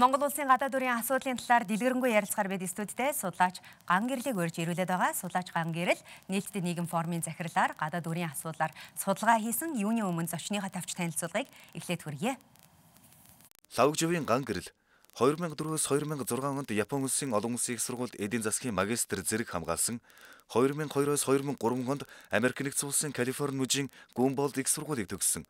Монгол улсын гадаад дүрийн асуудлын талаар дэлгэрэнгүй ярилцахаар бид студидтэй судлаач Ган Гэрлийг урьж ирүүлээд байгаа. Судлаач Ган Гэрэл нийтдээ нийгэм форумын захирлаар гадаад дүрийн асуудлаар судалгаа хийсэн юуны өмнө зочныхоо тавьж танилцуулгыг эхлээд хүргье. Лавгживын Ган Гэрэл 2004-өөс 2006 онд Япон улсын олон улсын их сургуульд эдийн засгийн магистр зэрэг хамгаалсан. 2002-оос 2003 онд Америк нэгдсэн улсын Калифорни мужийн Гумболд их сургуулийг төгссөн.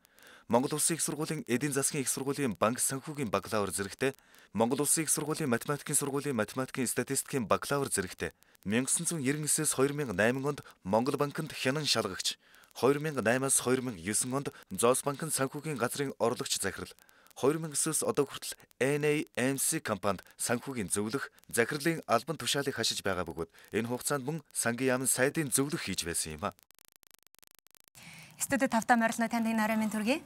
Монгол улсын их сургуулийн эдийн засгийн их сургуулийн банк санхүүгийн бакалавр зэрэгтэй, Монгол улсын их сургуулийн математикийн сургуулийн математикийн статистикийн бакалавр зэрэгтэй, 1999-с 2008 онд Монгол банкнд хянан шалгагч, 2008-аас 2009 онд Зоос банкнд санхүүгийн газрын орлогч захирал, 2009-с одоо хүртэл NAMC компанид санхүүгийн зөвлөх, захирлын албан тушаалыг хашиж байгаа бөгөөд энэ хугацаанд мөн сангийн яамн сайдын зөвлөх хийж байсан юм а. Студид тавтаа морилно танд нарийн мэнд төргий.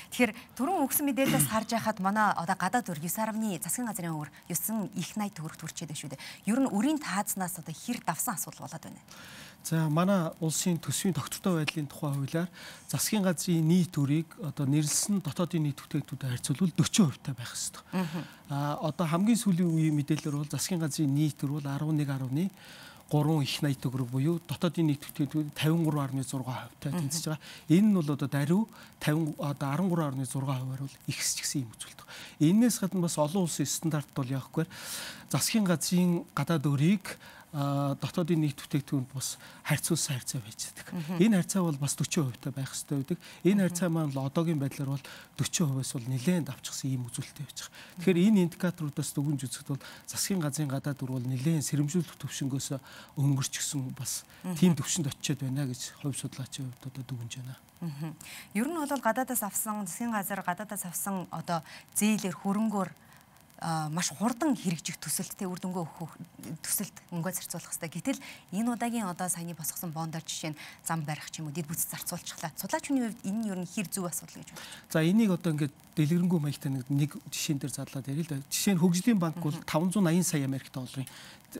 Тэгэхээр түрүүн өгсөн мэдээлэлээс харж байхад манай одоо гадаад дүр 9.9 засгийн газрын өвөр 9 их 80 төгрөг төрчээд байна шүү дээ. Ер нь үрийн таазнаас одоо хэр давсан асуудал болоод байна. За манай улсын төсвийн тогтвортой байдлын тухай хуулиар засгийн газрын нийт үрийг одоо нэрлсэн дотоодын нийт бүтээгдэхүүнтэй харьцуулбал 40% таа байх ёстой. Одоо хамгийн сүүлийн үеийн мэдээлэлээр бол засгийн газрын нийт өр бол 11.3 их 80 төгрөг буюу дотоодын нийт бүтээгдэхүүн 53.6% таа тэнцэж байгаа. Энэ нь бол одоо даруй 13.6%-аар бол ихсэж гисэн юм үзүүлдэг. Энээс гадна бас олон улсын стандарт бол яахгүй засгийн газрын гадаад өрийг дотоодын нийт бүтээгдэхүүнд бас харьцуулсан харьцаа байж байдаг. Энэ харьцаа бол бас 40% таа байх ёстой байдаг. Энэ харьцаа маань л одоогийн байдлаар бол 40%-аас бол нэлээд давчсан ийм үзүүлэлттэй байж байгаа. Тэгэхээр энэ индикаторуудаас дүгнж үзэхэд бол засгийн газрын гадаад дүр бол нэлээд сэрэмжлүүлэх төвшнгөөс өнгөрчихсөн бас тийм төвшөнд очиод байна гэж хувь судлаачийн хувьд одоо дүгнж байна. Ер нь бол гадаадаас авсан засгийн газар гадаадаас авсан одоо зээлэр хөрөнгөөр маш хурдан хэрэгжих төсөлттэй үр дүнгээ өгөх төсөлт мөнгө зарцуулах хэрэгтэй. Гэтэл энэ удаагийн одоо саяны босгосон бондор жишээ нь зам барих ч юм уу дэд бүтц зарцуулчихлаа. Судлаачны хувьд энэ нь ер нь хэр зөв асуудал гэж байна. За энийг одоо ингээд дэлгэрэнгүй маягтай нэг жишээн дээр задлаад ярил л да. Жишээ нь хөгжлийн банк бол 580 сая Америк долларын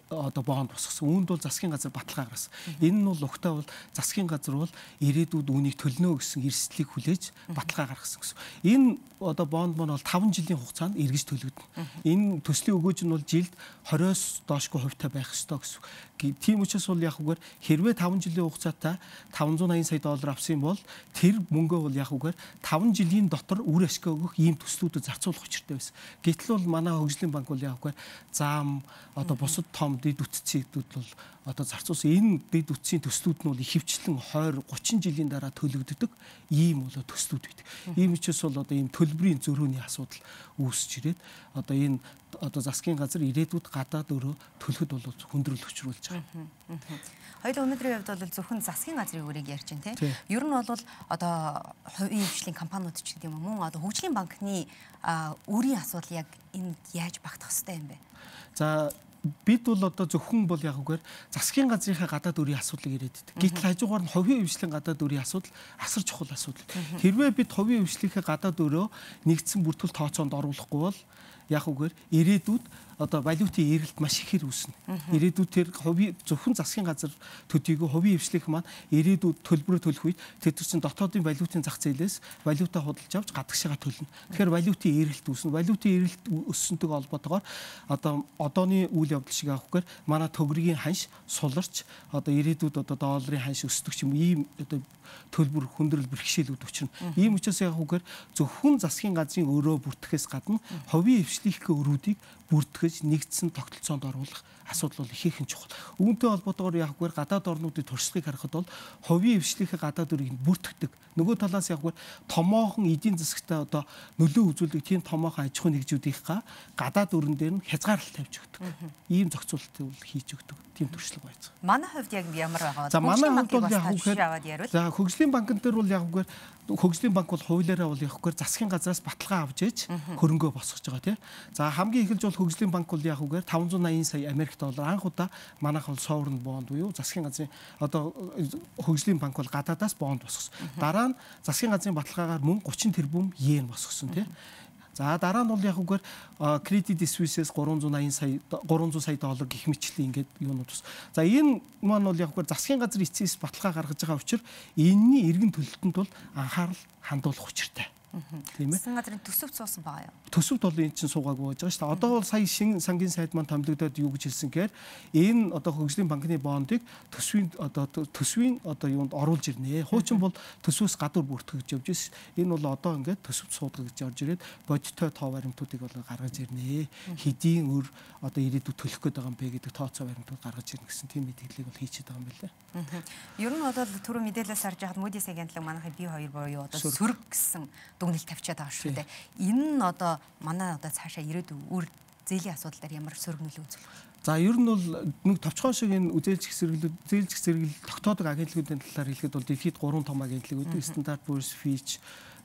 одоо бонд босгосон. Үүнд бол засгийн газар баталгаа гаргасан. Энэ нь бол угтаа бол засгийн газар бол ирээдүйд үүнийг төлнө гэсэн эрсдлийг хүлээж баталгаа гаргасан гэсэн. Энэ одоо бонд маань бол 5 жилийн хугацаанд эргэж төлөгдөнө. Энэ төслийн өгөөж нь бол жилд 20-оос доошгүй хувьтай байх ёстой гэсэн. Тийм учраас бол яг үгээр хэрвээ 5 жилийн хугацаатай 580 сая доллар авсан бол тэр мөнгөө бол яг үгээр 5 жилийн дотор үр ашиг өгөх ийм төслүүдэд зарцуулах учиртай байсан. Гэтэл бол манай хөгжлийн банк бол яг үгээр зам одоо бусад том дэд үтцүүдүүд бол одоо зарцуулсан энэ дэд үтцийн төслүүд нь бол ихэвчлэн 20-30 жилийн дараа төлөгддөг ийм бол төслүүд байдаг. Ийм учраас бол одоо ийм төлбөрийн зөрүүний асуудал үүсэж ирээд одоо энэ одоо засгийн газар ирээдүйд гадаад өрөө төлөхөд бол хүндрэл учруулж байгаа. Хоёул өнөөдрийн хувьд бол зөвхөн засгийн газрын өрийг ярьж байна тийм. Ер нь бол одоо хувийн хвшлийн компаниуд ч гэдэг юм уу мөн одоо хөгжлийн банкны өрийн асуудал яг энд яаж багтах ёстой юм бэ? За бид бол одоо зөвхөн бол яг үгээр засгийн газрынхаа гадаад өрийн асуудлыг яриад байдаг. Гэтэл хажуугаар нь хувийн хвшлийн гадаад өрийн асуудал асар чухал асуудал. Хэрвээ бид хувийн хвшлийнхээ гадаад өрөө нэгдсэн бүртгэл тооцоонд оруулахгүй бол яг үгээр ирээдүйд одоо валютын эрэлт маш ихээр үүснэ. Ирээдүйд тэр зөвхөн засгийн газар төдийгүй хувийн хвшлийнх маань ирээдүйд төлбөрөө төлөх үед тэр чинь дотоодын валютын зах зээлээс валютаа худалдаж авч гадагшаага төлнө. Тэгэхээр валютын эрэлт үүснэ. Валютын эрэлт өссөнтэйг холбоотойгоор одоо одооны үйл явдал шиг авахгаар манай төгрөгийн ханш суларч одоо ирээдүйд одоо долларын ханш өсдөг ч юм ийм одоо төлбөр хүндрэл бэрхшээлүүд учирна. Ийм учраас яг үгээр зөвхөн засгийн газрын өрөө бүртгэхээс гадна хувийн хвшлийнхээ өрүүдийг бүртгэж нэгдсэн тогтолцоонд оруулах асуудал бол ихээхэн чухал. Үүнтэй холбоотойгоор яг үгээр гадаад орнуудын туршлагыг харахад бол хувийн хвшлийнхээ гадаад өрийг бүртгэдэг. Нөгөө талаас яг үгээр томоохон эдийн засагтай одоо нөлөө үзүүлдэг тийм томоохон аж ахуй нэгжүүдийнхаа гадаад өрн дээр нь хязгаарлалт тавьж өгдөг. Ийм зохицуулалтыг бол хийж өгдөг. Тийм туршлага байж байгаа. Манай хувьд яг ямар байгаа вэ? За манай хувьд бол яг үгээр за хөгжлийн банкн дээр бол яг үгээр хөгжлийн банк бол хуулиараа бол яг үгээр засгийн газраас баталгаа авч ээж хөрөнгөө босгож байгаа тийм. За хамгийн эхэлж бол хөгжлийн банк бол яг үгээр 580 сая Америк доллар анх удаа манайх бол sovereign bond буюу засгийн газрын одоо хөгжлийн банк бол гадаадаас бонд босгосон. Дараа нь засгийн газрын баталгаагаар мөн 30 тэрбум йен босгосон тийм. За дараа нь бол яг үгээр Credit Suisse-с 300 сая доллар гэх мэтчлийн ингээд юунууд ус. За энэ маань бол яг үгээр засгийн газрын эцэс баталгаа гаргаж байгаа учраас энэний эргэн төлөлтөнд бол анхаарал хандуулах учиртай. Тийм ээ. Засгийн газрын төсөвт суусан байгаа юу? Төсөвт бол энэ чинь суугаагүй байж байгаа шүү дээ. Одоо бол сая шинэ сангийн сайд маань томилогдоод юу гэж хэлсэн гэхээр энэ одоо хөгжлийн банкны бондыг төсвийн юунд оруулж ирнэ. Хуучин бол төсвөөс гадуур бүртгэж явж байсан. Энэ бол одоо ингээд төсөвт суудаг гэж орж ирээд бодиттой тоо баримтуудыг бол гаргаж ирнэ. Хэдийн өр одоо ирээдүйд төлөх гээд байгаа юм бэ гэдэг тооцоо баримтууд гаргаж ирнэ гэсэн тийм мэдээллийг бол хийчихэд байгаа юм байна лээ. Ер нь бол түрүү мэдээлэлээс харж байхад Moody's агентлаг манайхыг B2 буюу одоо сөрөг гэсэн дүгнэлт тавьчаад байгаа шүү дээ. Энэ нь одоо манай одоо цаашаа ирээдүйн үр зээлийн асуудал дээр ямар сөрөг нөлөө үзүүлэх вэ? За ер нь бол нэг товчхон шиг энэ зээлжих зэрэглэл тогтоодог агентлагуудын талаар хэлэхэд бол дэлхийд 3 том агентлаг үүдээ Standard & Poor's, Fitch,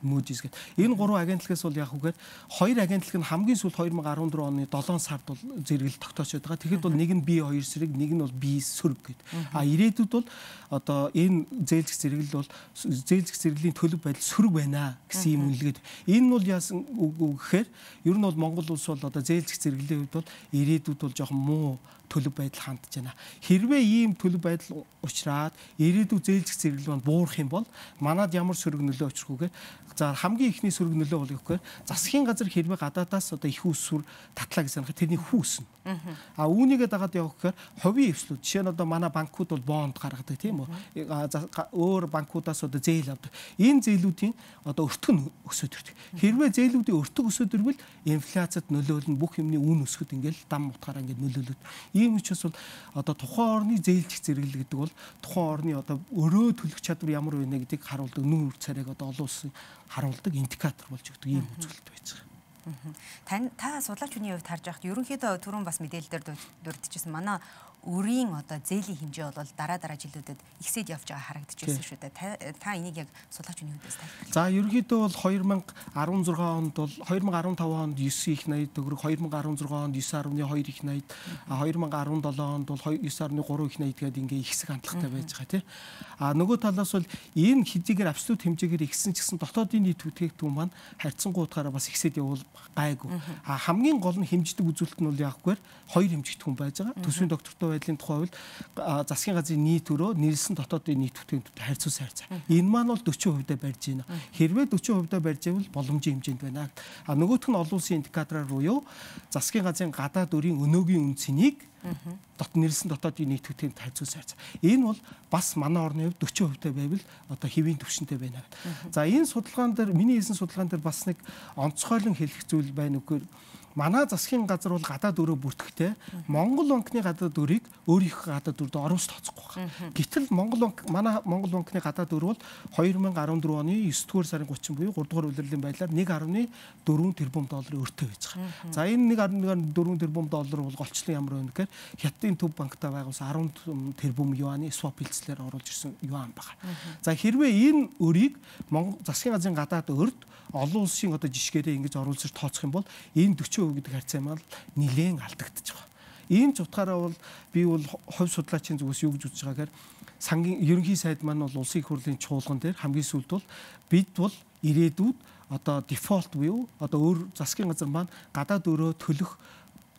Moody's гэдэг. Энэ 3 агентлагаас бол яг үгээр 2 агентлаг нь хамгийн сүүлд 2014 оны 7 сард бол зэрэглэл тогтоочод байгаа. Тэгэхэд бол нэг нь B2 сэрэг, нэг нь бол B сөрөг гэдэг. Ирээдүйд бол одоо энэ зээлжих зэрэглэл бол зээлжих зэрэглийн төлөв байдал сөрөг байна гэсэн юм үнэлгээд. Энэ нь бол яасан үг гэхээр ер нь бол Монгол улс бол одоо зээлжих зэрэглэлийн хувьд бол ирээдүйд бол жоохон муу төлөв байдал хандж байна. Хэрвээ ийм төлөв байдал учраад ирээдүйн зээлжих зэрэглэл маань буурах юм бол манад ямар сөрөг нөлөө учрах үгээр за хамгийн ихний сөрөг нөлөө бол гэхээр засгийн газар хэрвээ гадаадаас одоо их усүр татлаа гэсэн хэрэг тэрний хүүснэ. Үүнийгээ дагаад явах гэхээр хувийн эвслүүд жишээ нь одоо манай банкуд бол бонд гаргадаг тийм үү? Өөр банкудаас одоо зээл авдаг. Энэ зээлүүдийн одоо өртөг нь өсөд ирдэг. Хэрвээ зээлүүдийн өртөг өсөд ирвэл инфляцид нөлөөлнө, бүх юмны үн өсөхөд ингээл дам утгаараа ингээд нөлөөлөд. Ийм учраас бол одоо тухайн орны зээлжих зэрэглэл гэдэг бол тухайн орны одоо өрөө төлөх чадвар ямар байна гэдгийг харуулдаг нүүр царайг одоо олон улсын харуулдаг индикатор болж өгдөг ийм үзүүлэлт байж байгаа. Та судлаач хүний хувьд харж байхад ерөнхийдөө түрүүн бас мэдээлэлээр дурдчихсан манай өрийн одоо зээлийн хэмжээ бол дараа жилүүдэд ихсээд явж байгаа харагдчихсан шүү дээ. Та энийг яг судлаач хүний хувьдээс тайлбарлая. За ерөнхийдөө бол 2016 онд бол 2015 онд 9 их 80 төгрөг, 2016 онд 9.2 их 80, 2017 онд бол 9.3 их 80 гэдэг ингээ ихсэх хандлагатай байж байгаа тийм. Нөгөө талаас бол энэ хэдийгээр абсолют хэмжээгээр ихсэн ч гэсэн дотоодын нийт бүтээгдэхүүн маань харьцангуй утгаараа бас ихсээд явбал гайгүй. Хамгийн гол нь хэмждэг үзүүлэлт нь бол яахгүйгээр 2 хэмжигдэхүүн байж байгаа. Төсвийн доктортой байдлын тухай хувьд засгийн газрын нийт өрөө нийлсэн дотоодын нийт бүтээгдэхүүнтэй харьцуулсан харьцаа. Энэ маань бол 40% барьж байна. Хэрвээ 40% барьж байвал боломжийн хэмжээнд байна. Нөгөөх нь олон улсын индикатораар буюу засгийн газрын гадаад өрийн өнөөгийн үнцнийг нийлсэн дотоодын нийт бүтээгдэхүүнтэй харьцуулсан харьцаа. Энэ бол бас манай орны хувьд 40% байвал одоо хэвийн түвшинтэй байна. За энэ судалгаан дээр миний хийсэн судалгаан дээр бас нэг онцгойлон хэлэх зүйл байна үгээр манай засгийн газар бол гадаад өрөө бүртгэхдээ Монгол банкны гадаад өрийг өөрийнхөө гадаад өрөд оруулж тооцохгүй байна. Гэтэл манай Монгол банкны гадаад өр бол 2014 оны 9-р сарын 30 буюу 3-р улирлын байдлаар 1.4 тэрбум долларын өртөө байж байгаа. За энэ 1.4 тэрбум доллар бол голчлон ямар байна гэхээр Хятадын төв банктай байгуулсан 10 тэрбум юаны swap хилцлээр оруулж ирсэн юан байна. За хэрвээ энэ өрийг засгийн газрын гадаад өрд олон улсын одоо жишгээрээ ингэж оруулж тооцох юм бол энэ 40% гэдэг харьцаа маань нэлээд алдагдчих байгаа. Ийм ч утгаараа бол би бол хувь судлаачийн зүгээс юу гэж үзэж байгаа гэхээр сангийн ерөнхий сайд маань бол улсын их хурлын чуулган дээр хамгийн сүүлд бол бид бол ирээдүйд одоо дефолт буюу одоо өөр засгийн газар маань гадаад өрөө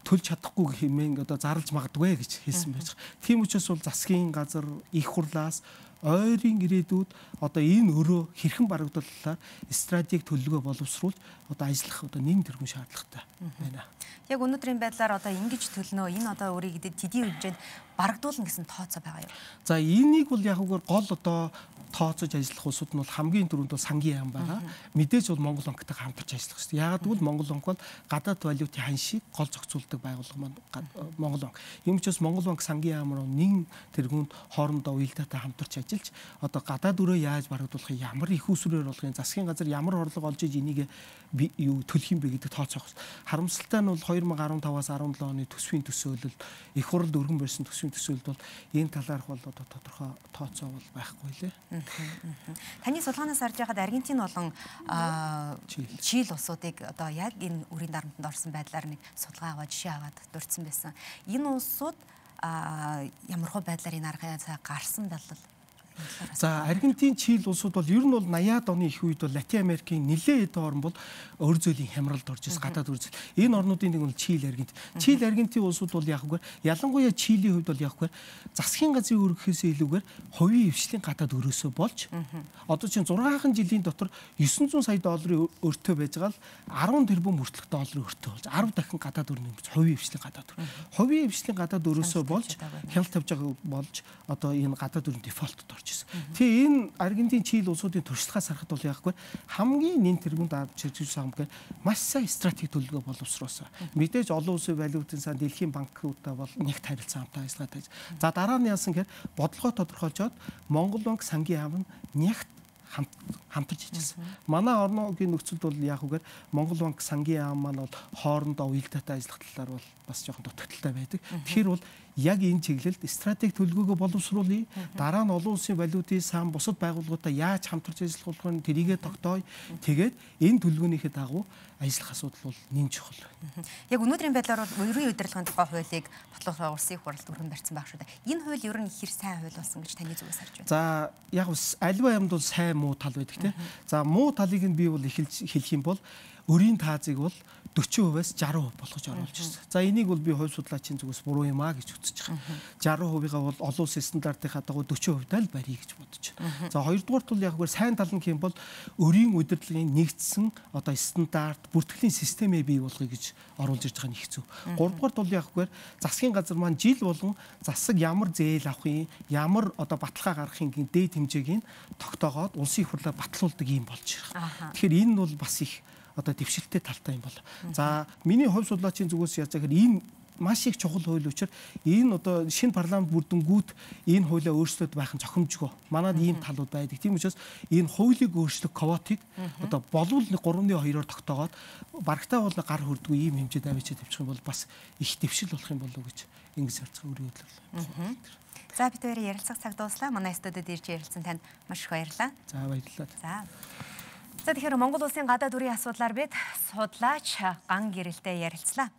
төлж чадахгүй хэмээн одоо зарлж магадгүй гэж хэлсэн байж байгаа. Тийм учраас бол засгийн газар их хурлаас ойрын ирээдүйд одоо энэ өрөө хэрхэн барагдууллаар стратеги төлөвлөгөө боловсруулж одоо ажиллах одоо нэм тэргүүн шаардлагатай байна. Яг өнөөдрийн байдлаар одоо ингэж төлнөө энэ одоо өөрийг тэдийн хэмжээнд барагдуулна гэсэн тооцоо байгаа юу? За энийг бол яг үгээр гол одоо тооцож ажиллах улсууд нь бол хамгийн түрүүнд бол сангийн яам байгаа. Мэдээж бол Монгол банктай хамтарч ажиллах хэрэгтэй. Яагаад гэвэл Монгол банк бол гадаад валютын ханшийг гол зохицуулдаг байгууллага маань Монгол банк. Ийм учраас Монгол банк сангийн яам руу нэн тэргүүнд хоорондоо уялдаатай хамтарч ажиллаж одоо гадаад өрөө яаж барагдуулах, ямар их усрээр болохын, засгийн газар ямар орлого олж иж энийг юу төлөх юм бэ гэдэг тооцоох. Харамсалтай нь бол 2015-аас 17 оны төсвийн төсөөлөл, их хурлд өргөн барьсан төсвийн төсөөлөлд бол энэ талаарх бол одоо тодорхой тооцоо бол байхгүй лээ. Таны судалгаанаас харж байхад Аргентин болон Чили улсуудыг одоо яг энэ үрийн дарамтанд орсон байдлаар нэг судалгаа аваад жишээ аваад дурдсан байсан. Энэ улсууд ямархуу байдлаар энэ аргаас гарсан болол За Аргентин, Чили улсууд бол ер нь бол 80-аад оны их үед бол Латин Америкийн нэлээд хэдэн орн бол өр зөлийн хямралд орж ирсэн гадаад өр зөөл. Энэ орнуудын нэг нь Чили, Аргентин. Чили, Аргентин улсууд бол яг үгээр ялангуяа Чилийн хувьд бол яг үгээр засгийн газрын өргөхөөс илүүгээр хувийн хвшлийн гадаад өрөөсөө болж одоо чинь 6 жилийн дотор 900 сая долларын өртөө байж байгаа л 10 тэрбум хүртэлх долларын өртөө болж 10 дахин гадаад өр нэмж хувийн хвшлийн гадаад өр. Хувийн хвшлийн гадаад өрөөсөө болж хяналт тавьж байгаа болж одоо энэ гадаад өрн дефолтод орж ирсэн. Тэгээ энэ Аргентин, Чили улсуудын туршлагаас харахад бол яг хамгийн нэн тэргуунд авч ирж байгаа юм гэхээр маш сайн стратеги төлөвлөгөө боловсруулсан. Мэдээж олон улсын валютын сан дэлхийн банкудаа бол нэгт харилцан хамтаа ажиллагаа тааж. За дараа нь яасан гэхээр бодлогоо тодорхойлжоод Монгол банк, сангийн яам нь нэгт хамтарч хийжсэн. Манай орногийн нөхцөлд бол яг үгээр Монгол банк, сангийн яам маань бол хоорондоо уялдаатай ажиллах талаар бол бас жоохон дутагдaltaй байдаг. Тэгэхээр бол яг энэ чиглэлд стратеги төлөвлөгөөгөө боловсруулъя. Дараа нь олон улсын валютын сан бусад байгууллагуудаа яаж хамтарч ажиллах вэ? Тэрийгэ тогтооё. Тэгээд энэ төлөвлөгөөнийхээ дагуу ажиллах асуудал бол нэн чухал. Яг өнөөдрийн байдлаар бол ерөнхий удирдлагын тухай хуулийг бодлого улсын хуралд өргөн барьсан байх шүү дээ. Энэ хууль ер нь хэр сайн хууль болсон гэж таны зүгээс харж байна? За яг альва юмд бол сайн муу тал байдаг тийм. За муу талыг нь би бол эхэлж хэлэх юм бол өрийн таазыг бол 40%-аас 60% болгож оруулж ирсэн. За энийг бол би хувь судлаачийн зүгээс буруу юм аа гэж үзэж байгаа. 60%-ийг бол олон улсын стандартынхаа дагуу 40%-тай л барья гэж бодож байна. За хоёрдугаарт бол яг үгээр сайн тал нь хэм бол өрийн удирдлагын нэгдсэн одоо стандарт, бүртгэлийн системээ бий болгоё гэж оруулж ирж байгаа нь их зөв. Гуравдугаарт бол яг үгээр засгийн газар маань жил болгон засаг ямар зээл авахын, ямар одоо баталгаа гаргахын дээд хэмжээг нь тогтоогоод улсын их хурлаар батлуулдаг юм болж байгаа. Тэгэхээр энэ нь бол бас их одоо дэвшилттэй талтай юм бол. За миний хувь судлаачийн зүгээс яаж гэхээр энэ маш их чухал хууль учраас энэ одоо шинэ парламент бүрдэнгүүд энэ хуулиа өөрчлөлт байх нь зохимжгүй. Манайд ийм талууд байдаг. Тийм учраас энэ хуулийг өөрчлөх квотыг одоо болвол 3-2-оор тогтоогоод барагтаа бол гар хүрдгүй ийм хэмжээд авчиж тавьчих юм бол бас их дэвшил болох юм болов уу гэж ингэж харцгаа өөрийн бодлоо. За бид хоёрын ярилцах цаг дуслаа. Манай студид ирж ярилцсан танд маш их баярлалаа. За баярлалаа. За тэгэхээр Монгол улсын гадаад үрийн асуудлаар бид судлаач Ган Гэрэлтэй ярилцлаа.